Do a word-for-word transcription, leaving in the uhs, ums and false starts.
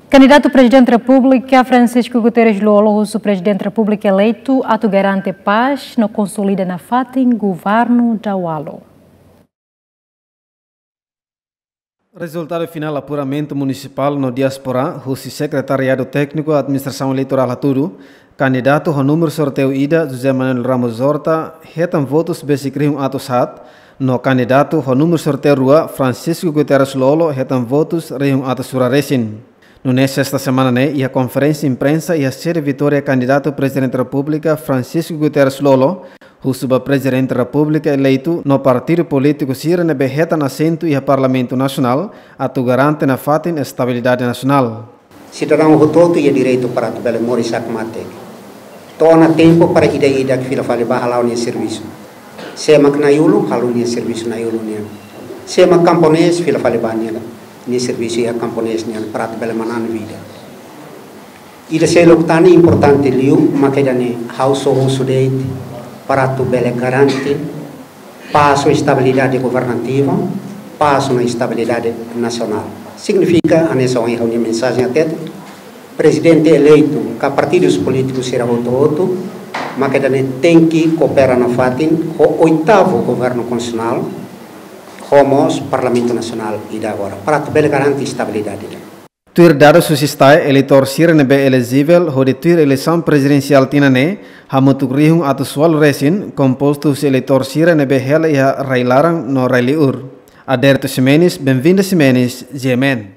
Kandidatu Prezidente Repúblika Francisco Guterres Lú-Olo husu Prezidente Repúblika eleitu atu garante pás no konsolida nafatin governu Dawalo. Rezultadu finál apuramentu munisipál no diáspora, husi Sekretariadu Tékniku Administrasaun Eleitorál hatudu, kandidatu ho númeru sorteiu ida, José Manuel Ramos Horta, hetan votus besik rihun atus haat, no kandidatu ho númeru sorteiu rua, Francisco Guterres Lú-Olo, hetan votus rihun atus rua resin. Nune'e sesta semana ne'e, iha konferénsia imprensa iha sede Vitória, kandidatu Prezidente Repúblika Francisco Guterres Lú-Olo husu ba Prezidente Repúblika eleitu no partidu polítiku sira ne'ebé hetan asentu iha Parlamentu Nasionál atu garante nafatin estabilidade nasionál. Sidadaun hotu-hotu iha direitu para atu bele moris hakmatek. To'o ona tempu para ida-idak fila fali ba hala'o nia servisu. Sé mak na'in-ulun, halo nia servisu na'in-ulun nian. Sé mak kamponés, fila fali ba nia, nia servisu iha kamponés nian para atu bele manán vida. Ida seluk tan ne'e importante liu, mak ida-ne'e ha'u só husu de'it para atu bele garante pás no estabilidade governativa, pás no estabilidade nasionál. Signifika, hanesan ohin ha'u-nia mensajen hatete, Prezidente eleitu ka partidus polítikus sira hotu-hotu, mak ida-ne'e tenke koopera nafatin ho oitavu governu konstitusionál, ho mós Parlamentu Nasionál ida agora, para atu bele garante estabilidade. Tuir dadus husi STAE, eleitór sira ne'ebé elejivel hodi tuir eleisaun prezidensiál tinan ne'e hamutuk rihun atus ualu resin, kompostu husi eleitór sira ne'ebé hela iha rai-laran no rai-li'ur. Aderto Ximenes, Benvinda Ximenes, G M N.